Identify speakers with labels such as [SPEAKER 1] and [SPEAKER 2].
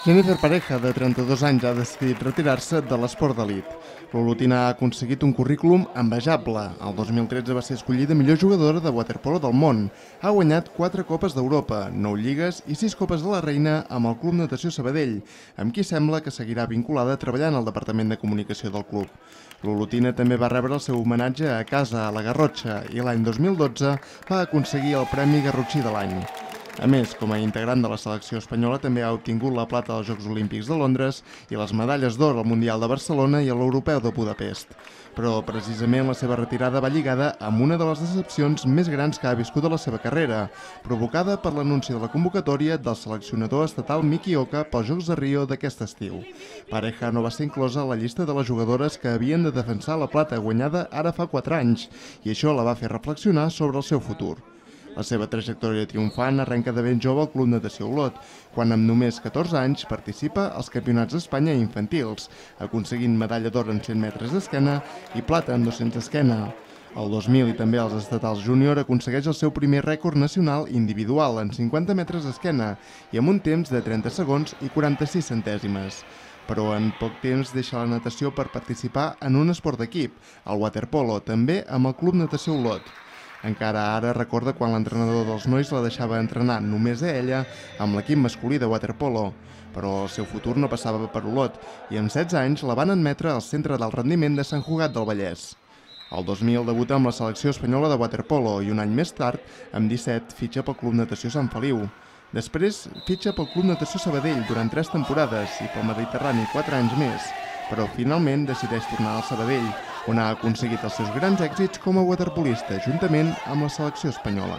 [SPEAKER 1] Jennifer Pareja, de 32 anys, ha decidit retirar-se de l'esport d'elit. L'olotina ha aconseguit un currículum envejable. El 2013 va ser escollida millor jugadora de waterpolo del món. Ha guanyat 4 Copes d'Europa, 9 lligues i 6 Copes de la Reina amb el Club Natació Sabadell, amb qui sembla que seguirà vinculada treballant al Departament de Comunicació del club. L'olotina també va rebre el seu homenatge a casa, a la Garrotxa, i l'any 2012 va aconseguir el Premi Garrotxí de l'any. A més, com a integrant de la selecció espanyola, també ha obtingut la plata als Jocs Olímpics de Londres i les medalles d'or al Mundial de Barcelona i a l'Europeu de Budapest. Però, precisament, la seva retirada va lligada amb una de les decepcions més grans que ha viscut a la seva carrera, provocada per l'anunci de la convocatòria del seleccionador estatal Miki Oka pels Jocs de Rio d'aquest estiu. Pareja no va ser inclosa a la llista de les jugadores que havien de defensar la plata guanyada ara fa 4 anys, i això la va fer reflexionar sobre el seu futur. La seva trajectòria triomfant arrenca de ben jove al Club Natació Olot, quan amb només 14 anys participa als Campionats d'Espanya infantils, aconseguint medalla d'or en 100 metres d'esquena i plata en 200 d'esquena. El 2000 i també als estatals júnior aconsegueix el seu primer rècord nacional individual en 50 metres d'esquena i amb un temps de 30 segons i 46 centèsimes. Però en poc temps deixa la natació per participar en un esport d'equip, el waterpolo, també amb el Club Natació Olot. Encara ara recorda quan l'entrenador dels nois la deixava entrenar només a ella amb l'equip masculí de waterpolo, però el seu futur no passava per Olot i amb 16 anys la van admetre al Centre d'Alt Rendiment de Sant Cugat del Vallès. El 2000 debuta amb la selecció espanyola de waterpolo i un any més tard, amb 17, fitxa pel Club Natació Sant Feliu. Després fitxa pel Club Natació Sabadell durant 3 temporades i pel Mediterrani 4 anys més, però finalment decideix tornar al Sabadell, on ha aconseguit els seus grans èxits com a waterpolista, juntament amb la selecció espanyola.